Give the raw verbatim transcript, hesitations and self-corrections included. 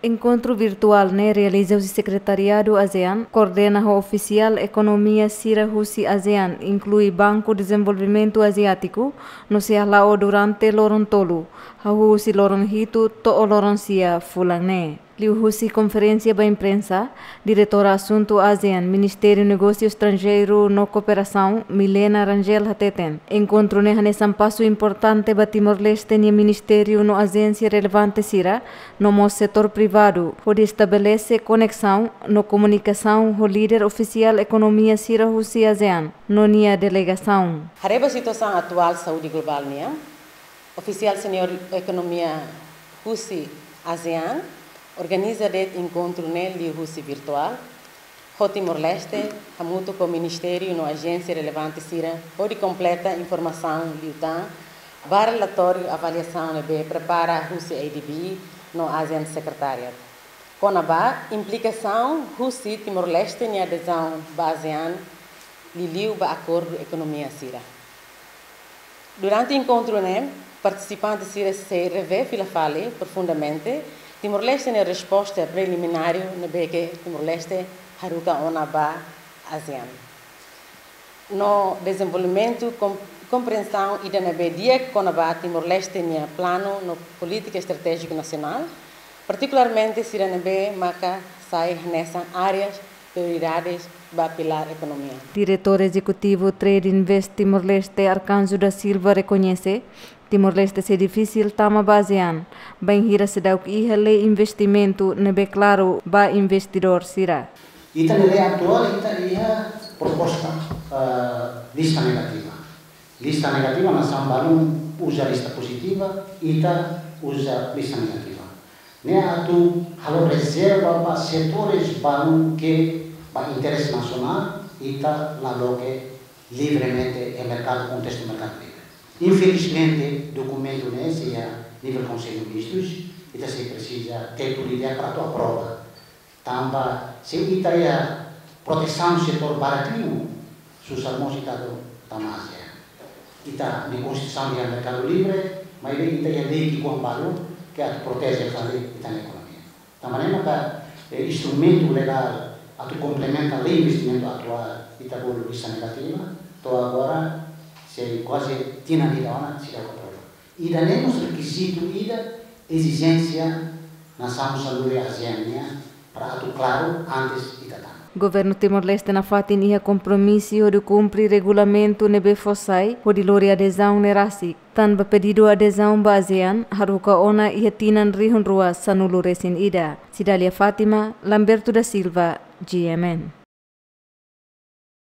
Enkontru virtuál ne'e realiza husi Sekretariadu ASEAN, koordena ho ofisiál ekonomia sira husi ASEAN, inklui Banku Dezenvolvimentu Aziátiku, no sei hala'o durante loron tolu, hahú husi loron hitu to'o loron sia fulan ne'e. Liuhusi konferénsia ba imprensa, Diretora Asuntu ASEAN, Ministériu Negósiu Estranjeiru no Kooperasaun, Milena Rangel hateten, enkontru ne'e hanesan pasu importante ba Timor-Leste nia ministériu no ajénsia relevante sira, no mós setór privadu, hodi estabelese koneksaun no komunikasaun ho líder ofisiál ekonomia sira husi ASEAN no nia delegasaun. Haree ba situasaun atuál saúde globál nian, ofisiál seniór ekonomia husi ASEAN organiza de'it enkontru ne'e liuhusi virtuál, ho Timor-Leste, hamutuk ho ministériu no ajénsia relevante sira, hodi kompleta informasaun liután ba relatóriu avaliasaun ne'ebé prepara husi ADB no ASEAN Secretariat, kona-ba implikasaun husi Timor-Leste nia adezaun ba ASEAN, liuliu ba akordu ekonomia sira. Durante enkontru ne'e, partisipante sira sei revee fila fali profundamente Timor-Leste nia resposta preliminariu ne'ebé ke Timor-Leste haruka ona ba ASEAN, no dezenvolvimentu kom-, komprensaun ida ne'ebé di'ak kona-ba Timor-Leste nia planu no polítika estratéjiku nasionál, partikularmente sira ne'ebé maka sai hanesan áreas prioridades ba pilár ekonomia. Diretór Ezekutivu Trade Invest Timor-Leste, Arcanjo da Silva, rekoñese, Timor-Leste sei difisil tama ba ASEAN, bainhira seidauk iha lei investimentu ne'ebé klaru ba investidór sira. Ita-nia lei atuál, ita iha proposta, eh, lista negativa. Lista negativa, nasaun balun uza lista pozitiva, ita uza lista negativa. Ne'e atu halo rezerva ba setores balun ke ba interese nasionál, ita la loke livremente iha merkadu, kontestu merkadu livre. Infelizmente, dokumentu ne'e sei iha nivel Konsellu Ministrus, ita sei presiza tetu lide para atu aprova. Tanba se ita iha protesaun setór barak liu, susar mós ita atu tama ASEAN. Ita-nia konstituisaun iha merkadu livre, maibé ita iha lei ki'ikoan balu ke atu proteje fali ita-nia ekonomia. Tanba ne'e maka, eh, instrumentu legál atu komplementa lei investimentu atuál, ita bolu lista negativa, to'o agora sei kuaze tinan ida ona seidauk aprova. Ida-ne'e mós rekizitu ida, ezijénsia nasaun sanulu ASEAN nian, para atu klaru antes ita tama. Governu Timor-Leste nafatin iha kompromisu hodi kumpre regulamentu ne'ebé fó sai hodi lori adezaun ne'e rasik. Tanba pedidu adezaun ba ASEAN haruka ona iha tinan rihun rua sanulu resin ida. Cidália Fátima, Lamberto da Silva, G M N.